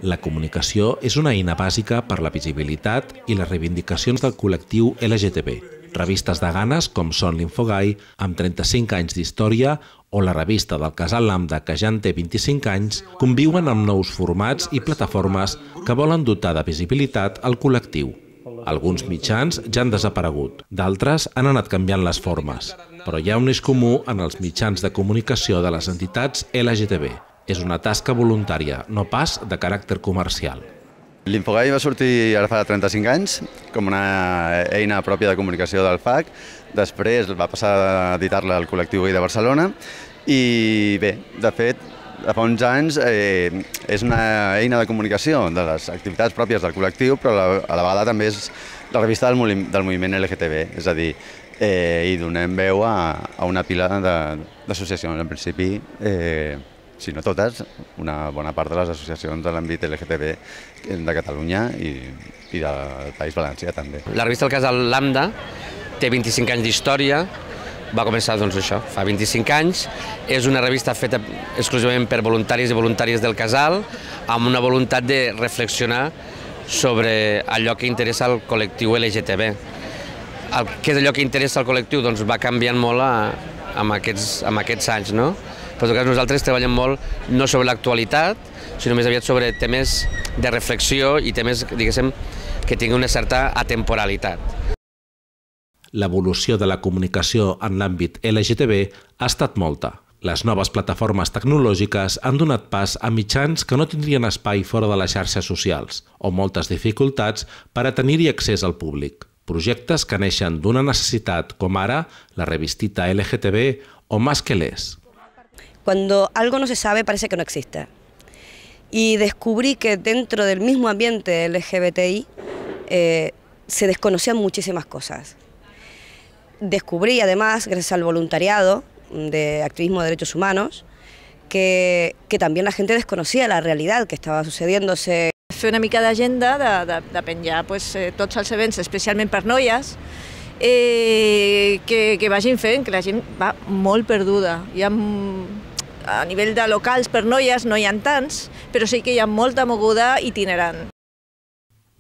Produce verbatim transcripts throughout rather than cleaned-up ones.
La comunicació és una eina bàsica per la visibilitat i les reivindicacions del col·lectiu L G T B. Revistes de ganes com són l'Infogai, amb trenta-cinc anys d'història, o la revista del Casal Lambda, que ja en té vint-i-cinc anys, conviuen amb nous formats i plataformes que volen dotar de visibilitat al col·lectiu. Alguns mitjans ja han desaparegut, d'altres han anat canviant les formes, però hi ha un eix comú en els mitjans de comunicació de les entitats L G T B. És una tasca voluntària, no pas de caràcter comercial. L'Infogai va sortir ara fa trenta-cinc anys com una eina pròpia de comunicació del F A C. Després va passar a editar-la al col·lectiu Gai de Barcelona i bé, de fet, fa uns anys eh, és una eina de comunicació de les activitats pròpies del col·lectiu, però a la vegada també és la revista del, del moviment L G T B, és a dir, eh, hi donem veu a, a una pila d'associacions. En principi, eh, si no totes, una bona part de les associacions de l'àmbit L G T B de Catalunya i, i del País Valencià també. La revista El Casal Lambda té vint-i-cinc anys d'història, va començar doncs això, fa vint-i-cinc anys, és una revista feta exclusivament per voluntaris i voluntàries del casal, amb una voluntat de reflexionar sobre allò que interessa al col·lectiu L G T B. El, què és allò que interessa al col·lectiu? Doncs va canviant molt a, amb, aquests, amb aquests anys, no? Però en tot cas nosaltres treballem molt no sobre l'actualitat, sinó més aviat sobre temes de reflexió i temes, diguéssim, que tinguin una certa atemporalitat. L'evolució de la comunicació en l'àmbit L G T B ha estat molta. Les noves plataformes tecnològiques han donat pas a mitjans que no tindrien espai fora de les xarxes socials o moltes dificultats per a tenir-hi accés al públic. Projectes que neixen d'una necessitat, com ara la revistita L G T B o Más que les. Cuando algo no se sabe, parece que no existe. Y descubrí que dentro del mismo ambiente L G B T I eh, se desconocían muchísimas cosas. Descubrí además, gracias al voluntariado de activismo de derechos humanos, que, que también la gente desconocía la realidad que estava sucediéndose. Fer una mica d'agenda de, de, de penjar pues, eh, tots els events, especialment per noies, eh, que, que vagin fent, que la gent va molt perduda. Hi ha, a nivell de locals per noies no hi ha tants, però sí que hi ha molta moguda itinerant.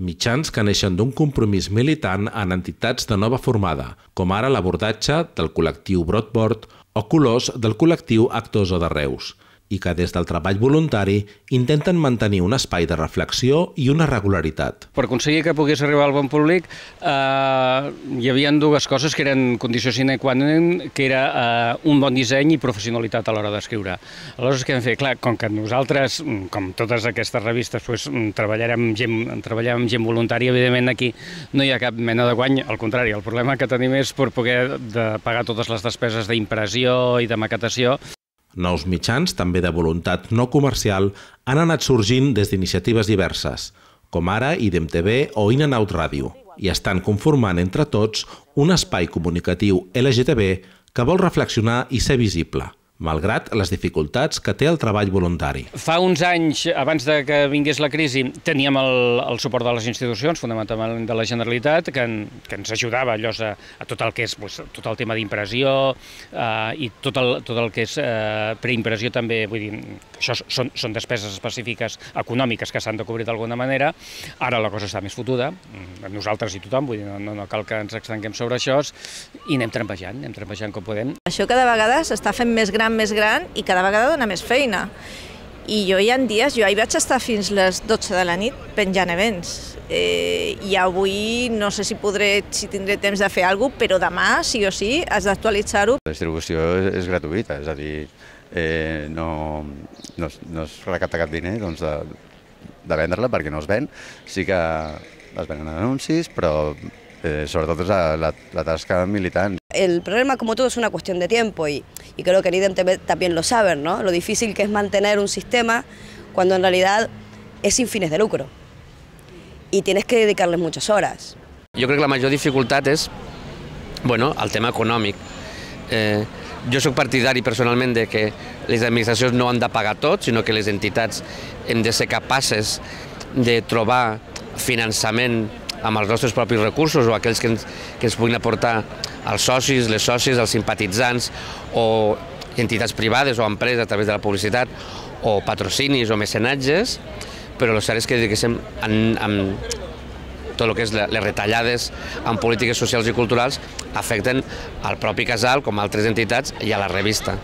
Mitjans que neixen d'un compromís militant en entitats de nova formada, com ara l'abordatge del col·lectiu Broadboard o Colors del col·lectiu Actors de Reus, i que des del treball voluntari intenten mantenir un espai de reflexió i una regularitat. Per aconseguir que pogués arribar al bon públic eh, hi havia dues coses que eren condició sine qua non, que era eh, un bon disseny i professionalitat a l'hora d'escriure. Aleshores, què hem fet? Clar, com que nosaltres, com totes aquestes revistes, pues, treballarem amb gent, treballem amb gent voluntària, evidentment aquí no hi ha cap mena de guany, al contrari, el problema que tenim és per poder de pagar totes les despeses d'impressió i de maquetació. Nous mitjans, també de voluntat no comercial, han anat sorgint des d'iniciatives diverses, com ara I D E M T V o In and Out Ràdio, i estan conformant entre tots un espai comunicatiu L G T B que vol reflexionar i ser visible, malgrat les dificultats que té el treball voluntari. Fa uns anys, abans de que vingués la crisi, teníem el, el suport de les institucions, fonamentalment de la Generalitat, que, en, que ens ajudava allò a, a tot el que és pues, tot el tema d'impressió eh, i tot el, tot el que és eh, preimpressió també, vull dir, això són, són despeses específiques econòmiques que s'han de cobrir d'alguna manera. Ara la cosa està més fotuda, nosaltres i tothom, vull dir, no, no cal que ens estenguem sobre això, i anem trampejant, anem trampejant com podem. Això cada vegada s'està fent més gran més gran i cada vegada dona més feina. I jo hi ha dies, jo hi vaig estar fins les dotze de la nit penjant events. Eh, I avui no sé si podré, si tindré temps de fer alguna cosa, però demà, sí o sí, has d'actualitzar-ho. La distribució és gratuïta, és a dir, eh, no, no, no es recapta cap diner doncs, de, de vendre-la perquè no es ven. Sí que es venen anuncis, però eh, sobretot és la, la, la tasca militant. El problema, como todo, es una cuestión de tiempo y, y creo que el I D E M T V también lo saben, ¿no? Lo difícil que es mantener un sistema cuando en realidad es sin fines de lucro y tienes que dedicarles muchas horas. Jo crec que la major dificultat és bueno, el tema econòmic. Eh, jo soc partidari personalment de que les administracions no han de pagar tot, sinó que les entitats hem de ser capaces de trobar finançament amb els nostres propis recursos o aquells que ens, que ens puguin aportar els socis, les sòcies, els simpatitzants o entitats privades o empreses a través de la publicitat o patrocinis o mecenatges, però el cert és que, diguéssim, en, en tot el que és les retallades en polítiques socials i culturals afecten al propi casal, com a altres entitats, i a la revista.